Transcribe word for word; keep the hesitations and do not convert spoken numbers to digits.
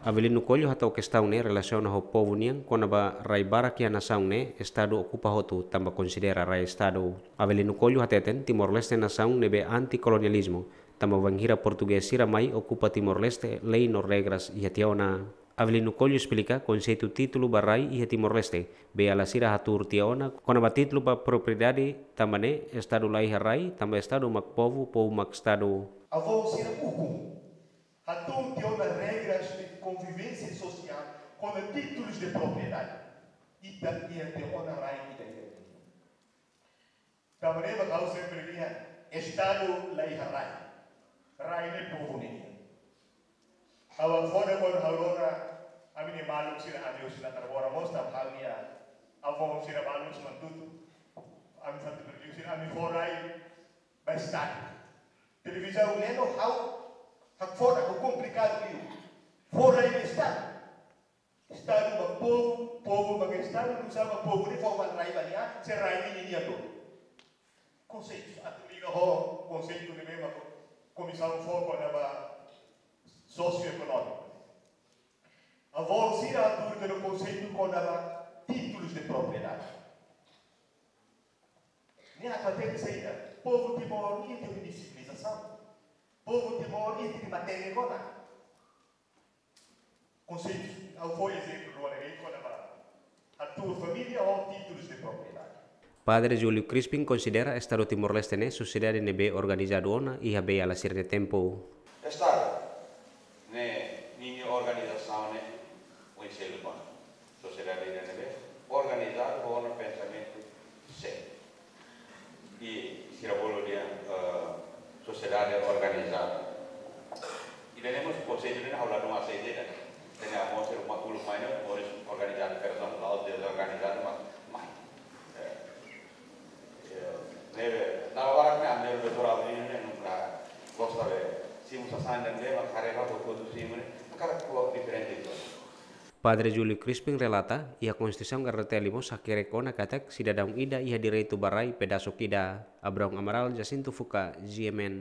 Avelino Coelho hatán kestaun ne'e relasiona ho povu nian kona-ba rai barak iha nasaun ne'e Estadu okupa hotu tanba konsidera rai Estadu. Avelino Coelho hateten Timor-Leste nasaun ne'ebé anti-kolonializmu, tanba bainhira portugés sira mai okupa Timor-Leste, lei no regras iha tiha ona. Avelino Coelho esplika konseitu títulu ba rai iha Timor-Leste, Beiala sira hatuur tiha ona kona-ba títulu ba propriedade, tanba ne'e Estadu la iha rai, tanba Estadu mak povu, povu mak Estadu. Avó sira ukun hatuur tiha ona regras de convivência social kona títulus de propriedade. Ita iha tiha ona rai ida-idak. Tanba ne'e mak ha'u sempre dehan, Estadu la iha rai. Rai ne'e povu nian. Ha'u hakfodak kuandu ha'u rona ami-nia maluk sira, ami husi Natar Bora mós tanba ami-nia avó sira balu husi Manatuto. Ami fatu berdiu sira, ami fó rai ba Estadu. Televizaun ne'e no ha'u hakfodak, ha'u komplikadu liu. Fó rai ba Estadu. Estadu ba povu, povu ba Estadu, nusá mak povu ne'e fó rai ba nia, se rai ne'e ninia duni. Konseitu, atu liga ho konseitu ne'ebé mak komisaun fó kona-ba sosioekonómiku. Avó sira hatuur tiha ona konseitu kona-ba títulus de propriedade. Ne'e atu hatene saida, povu Timor iha tiha nia sivilizasaun. Povu Timor iha tiha nia matenek ona. Konseitu, ha'u fó ezemplu rua ne'e kona-ba hatuur família ho títulus de propriedade. Padre Júlio Crispim konsidera Estadu Timor-Leste ne'e sosiedade ne'ebé organizadu ona iha Beiala sira-nia tempu. Estadu ne'e ninia organizasaun ne'e oin seluk ona. Sosiedade ida ne'ebé organizadu ho ona pensamentu seluk. I sira bolu dehan, eh, sosiedade organizada. Ida-ne'e mós konseitu ne'e ha'u ladún aseita ida. Tanba ami sira mak uluk mai ne'e, moris organizadu, persona la'ós dezorganizadu, mas mai. Eh, eh, ne'ebé, dala barak ne'e, ami doutora Avelino ne'e, nunka gosta be, simu sasán ne'e, mas kareba, botu simu ne'e, hakarak ko'alia diferente itu. Padre Júlio Crispim relata, iha Konstituisaun R D T L mós hakerek ona katak sidadaun ida iha direitu ba rai pedasuk ida. Abraão Amaral, Jacinto Fuca, G M N.